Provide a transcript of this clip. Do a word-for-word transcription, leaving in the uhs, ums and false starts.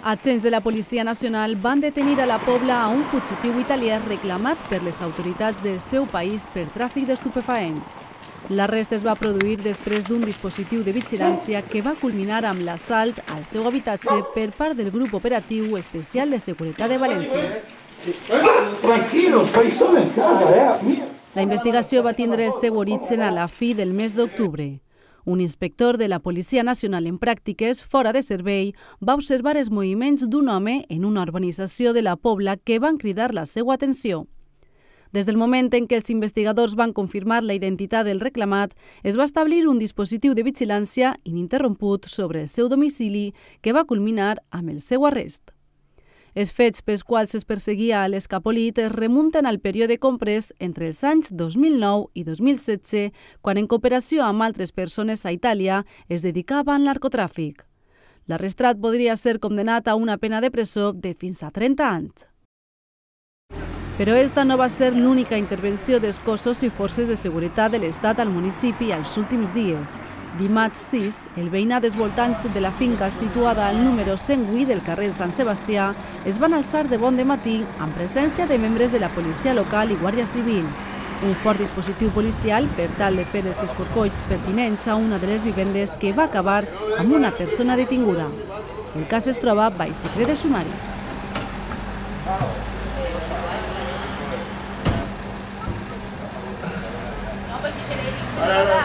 Agents de la Policia Nacional van detenir a la Pobla a un fugitiu italià reclamat per les autoritats del seu país per tràfic d'estupefaents. L'arrest es va produir després d'un dispositiu de vigilància que va culminar amb l'assalt al seu habitatge per part del Grup Operatiu Especial de Seguretat de València. La investigació va tindre el seu origen a la fi del mes d'octubre. Un inspector de la Policia Nacional en pràctiques fora de servei va observar els moviments d'un home en una urbanització de la Pobla que van cridar la seva atenció. Des del moment en què els investigadors van confirmar la identitat del reclamat, es va establir un dispositiu de vigilància ininterromput sobre el seu domicili que va culminar amb el seu arrest. Els fets pels quals es perseguia a l'escapolit es remunten al període comprès entre els anys dos mil nou i dos mil setze, quan en cooperació amb altres persones a Itàlia es dedicava al narcotràfic. L'arrestat podria ser condemnat a una pena de presó de fins a trenta anys. Però esta no va ser l'única intervenció dels cossos i forces de seguretat de l'Estat al municipi als últims dies. Dimarts sis, el veïnat dels voltants de la finca situada al número cent vuit del carrer Sant Sebastià es van alçar de bon dematí amb presència de membres de la policia local i Guàrdia Civil. Un fort dispositiu policial per tal de fer els escorcolls pertinents a una de les vivendes que va acabar amb una persona detinguda. El cas es troba baix secret de sumari. Para